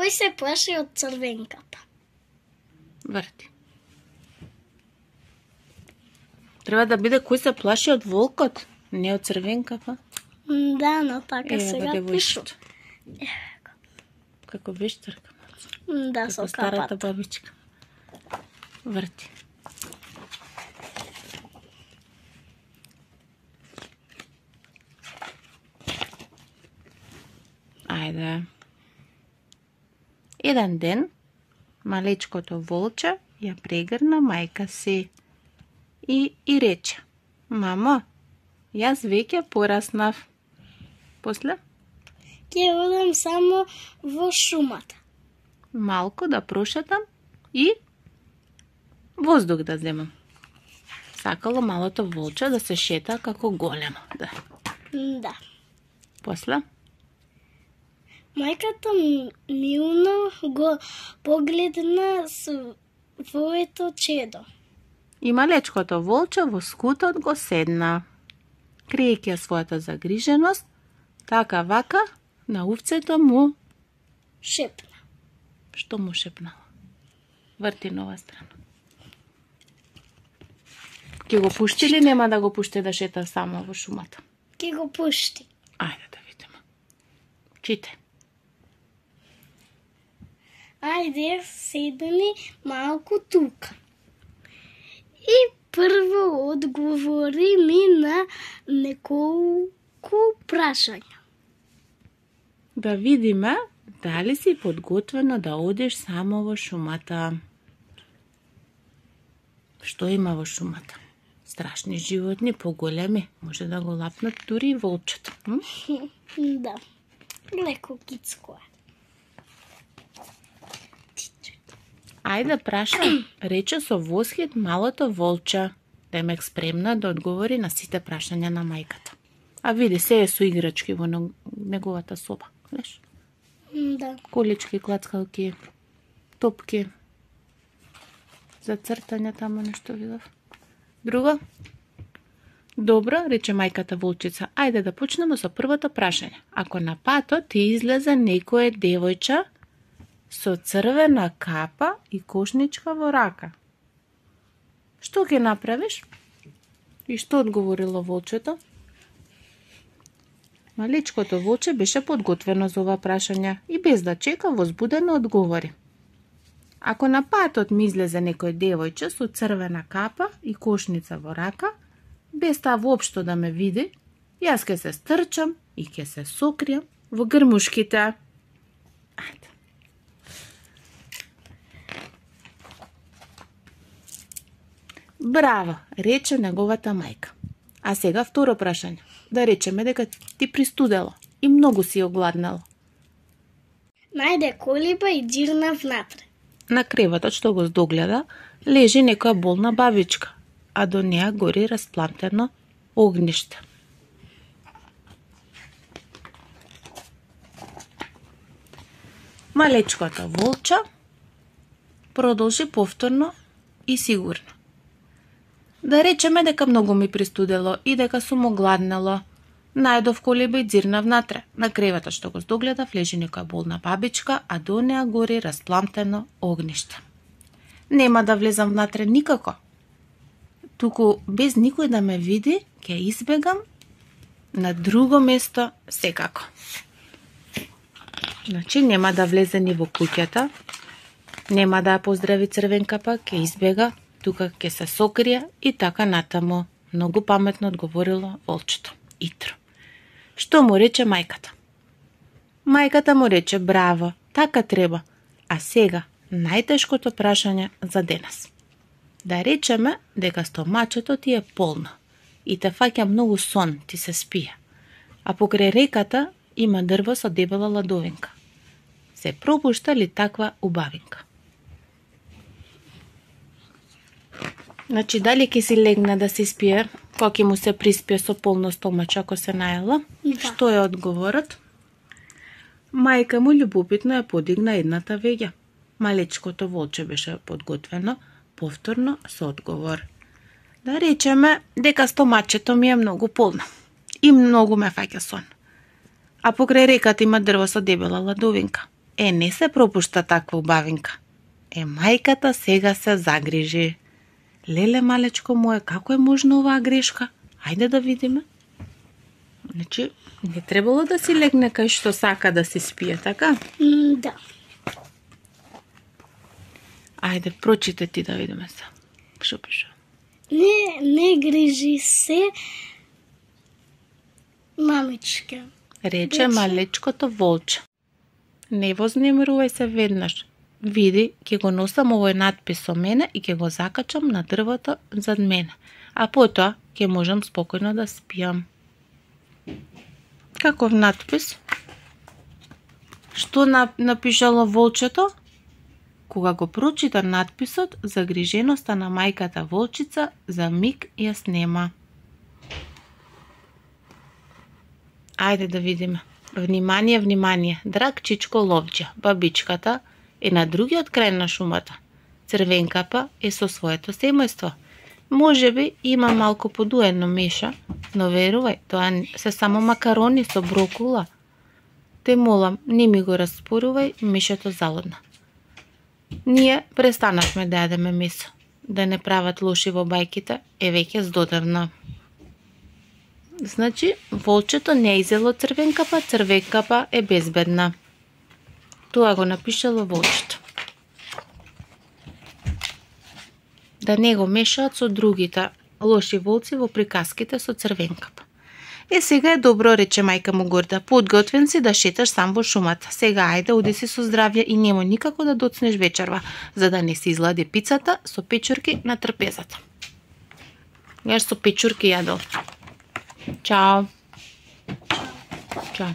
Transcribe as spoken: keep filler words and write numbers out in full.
Кој се плаши од црвенката? Врти. Треба да биде кој се плаши од волкот, не од црвенката. Да, но така Еве сега го пишу. девојчето. Како вештарка. Да, Како со старата капата. бабичка. Врти. Ајде. Еден ден, малечкото волче ја прегрна мајка си и и рече: Мамо, јас веќе пораснав. После? Ќе одам само во шумата. Малку да прошетам и воздух да земам. Сакало малото волче да се шета како големо. Да. Да. После? Мајката милно го погледна своето чедо. И малечкото волче во скутот го седна. Криејќи својата загриженост, така вака на овцето му Шепна. што му шепнала. Врти на оваа страна. Ќе го пушти или нема да го пушти да шета само во шумата? Ке го пушти. Ајде да видиме. Чите. Ајде, седни малку тука. И прво одговори ми на неколку прашања. Да видиме дали си подготвена да одиш само во шумата. Што има во шумата? Страшни животни, поголеми, може да го лапнат дури и волчето. М? Да, леко кицко е. Ајде прашам, рече со восхит малото волче, Демек спремна да одговори на сите прашања на мајката. А види, се е со играчки во неговата соба, гледаш? Да. Колички, клацкалки, топки. За цртање таму нешто видов. Друго? Добро, рече мајката волчица. Ајде да почнеме со првото прашање. Ако на патот ти излезе некое девојче со црвена капа и кошничка во рака, што ќе направиш? И што одговорило волчето? Малечкото волче беше подготвено за ова прашање и без да чека возбудено одговори. Ако на патот ми излезе некој девојче со црвена капа и кошница во рака, без таа воопшто да ме види, јас ќе се стрчам и ќе се сокријам во грмушките. Ајде. Браво, рече неговата мајка. А сега второ прашање. Да речеме дека ти пристудело и многу си огладнало. Најде колиба и џирна внатре. На креветот што го здогледа лежи некоја болна бабичка, а до неа гори расплантено огниште. Малечкото волче продолжи повторно и сигурно. Да речеме дека многу ми пристудело и дека сум огладнало. Најдов колиба и џирна внатре. На креветот што го здогледав лежи некоја болна бабичка, а до неа гори распламтено огниште. Нема да влезам внатре никако. Туку без никој да ме види, ќе избегам на друго место секако. Значи нема да влезе ни во куќата, нема да ја поздрави црвенкапа, ќе избега, тука ќе се сокрие и така натаму. Многу паметно одговорило волчето. Итро. Што му рече мајката? Мајката му рече браво, така треба. А сега, најтешкото прашање за денес. Да речеме дека стомачето ти е полно и те фаќа многу сон, ти се спие. А покрај реката има дрво со дебела ладовинка. Се пропушта ли таква убавинка? Значи, дали ќе си легна да се спие, кога ќе му се приспие со полно стомаче ако се наела? Да. Што е одговорот? Мајка му љубопитно ја подигна едната веѓа. Малечкото волче беше подготвено повторно со одговор. Да речеме дека стомачето ми е многу полно и многу ме фаќа сон. А покрај реката има дрво со дебела ладовинка. Е, не се пропушта таква убавинка. Е, мајката сега се загрижи. Леле, малечко моје, како е можно оваа грешка? Ајде да видиме. Значи, не требало да си легне кај што сака да си спие, така? М, да. Ајде, прочите ти да видиме се. Што пише? Не, не грижи се, мамичка. Рече Рече. малечкото волче. Не вознемирувај се веднаш. Види, ќе го носам овој надпис со мене и ќе го закачам на дрвото зад мене. А потоа ќе можам спокојно да спијам. Каков надпис? Што напишало волчето? Кога го прочита надписот, загриженоста на мајката волчица за миг ја снема. Ајде да видиме. Внимание, внимание, драг чичко ловџа, бабичката е на другиот крај на шумата. Црвенкапа е со своето семејство. Може би има малку подуено меша, но верувај, тоа се само макарони со брокула. Те молам, не ми го распорувај, мешето залудна. Ние престанавме да јадеме месо. Да не прават лоши во бајките е веќе здодевна. Значи, волчето не изело црвенкапа, црвенкапа е безбедна. Тоа го напишало волчето. Да не го мешаат со другите лоши волци во приказките со црвенкапа. Е, сега е добро, рече мајка му горда. Подготвен си да шеташ сам во шумата. Сега ајде, оди си со здравје и немој никако да доцнеш вечерва, за да не се излади пицата со печурки на трпезата. Јаш со печурки јадел. Чао. Чао.